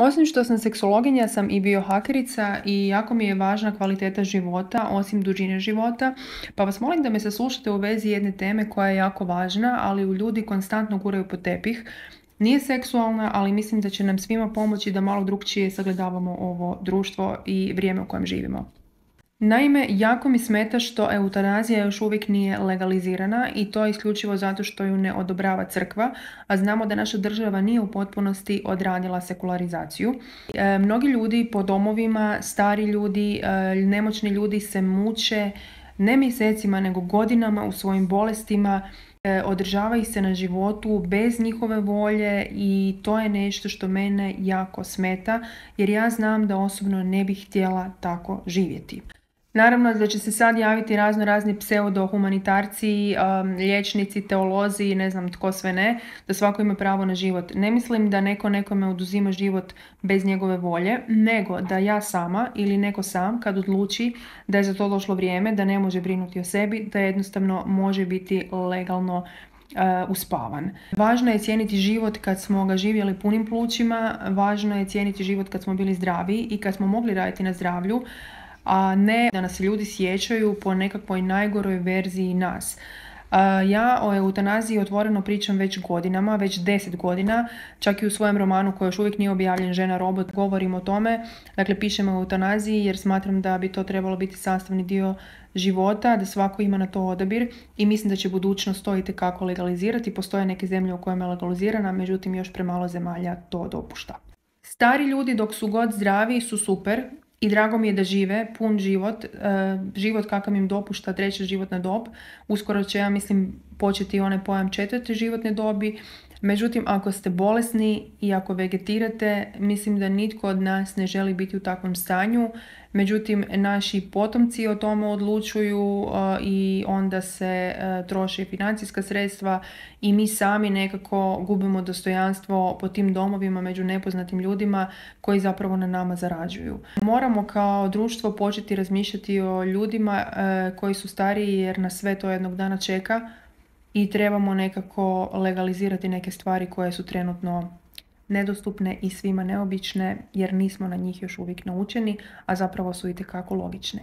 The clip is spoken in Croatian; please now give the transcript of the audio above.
Osim što sam seksologinja sam i biohakerica i jako mi je važna kvaliteta života, osim dužine života, pa vas molim da me saslušate u vezi jedne teme koja je jako važna, ali ju ljudi konstantno guraju pod tepih. Nije seksualna, ali mislim da će nam svima pomoći da malo drukčije sagledavamo ovo društvo i vrijeme u kojem živimo. Naime, jako mi smeta što eutanazija još uvijek nije legalizirana i to isključivo zato što ju ne odobrava crkva, a znamo da naša država nije u potpunosti odradila sekularizaciju. Mnogi ljudi po domovima, stari ljudi, nemoćni ljudi se muče ne mjesecima nego godinama u svojim bolestima, održava ih se na životu bez njihove volje i to je nešto što mene jako smeta jer ja znam da osobno ne bih htjela tako živjeti. Naravno da će se sad javiti razno razni pseudo-humanitarci, liječnici, teolozi i ne znam tko sve ne, da svako ima pravo na život. Ne mislim da neko nekome oduzima život bez njegove volje, nego da ja sama ili neko sam kad odluči da je za to došlo vrijeme, da ne može brinuti o sebi, da jednostavno može biti legalno uspavan. Važno je cijeniti život kad smo ga živjeli punim plućima, važno je cijeniti život kad smo bili zdravi i kad smo mogli raditi na zdravlju, a ne da nas ljudi sjećaju po nekakvoj najgoroj verziji nas. Ja o eutanaziji otvoreno pričam već godinama, već 10 godina, čak i u svojem romanu koji još uvijek nije objavljen, Žena robot, govorim o tome. Dakle, pišem o eutanaziji jer smatram da bi to trebalo biti sastavni dio života, da svako ima na to odabir i mislim da će budućnost to itekako legalizirati. Postoje neke zemlje u kojima je legalizirana, međutim još premalo zemalja to dopušta. Stari ljudi dok su god zdravi su super i drago mi je da žive pun život, život kakav im dopušta treća životna dob. Uskoro će, ja mislim, početi onaj pojam četvrte životne dobi. Međutim, ako ste bolesni i ako vegetirate, mislim da nitko od nas ne želi biti u takvom stanju. Međutim, naši potomci o tome odlučuju i onda se troše financijska sredstva i mi sami nekako gubimo dostojanstvo po tim domovima među nepoznatim ljudima koji zapravo na nama zarađuju. Moramo kao društvo početi razmišljati o ljudima koji su stariji jer nas sve to jednog dana čeka i trebamo nekako legalizirati neke stvari koje su trenutno nedostupne i svima neobične jer nismo na njih još uvijek naučeni, a zapravo su itekako logične.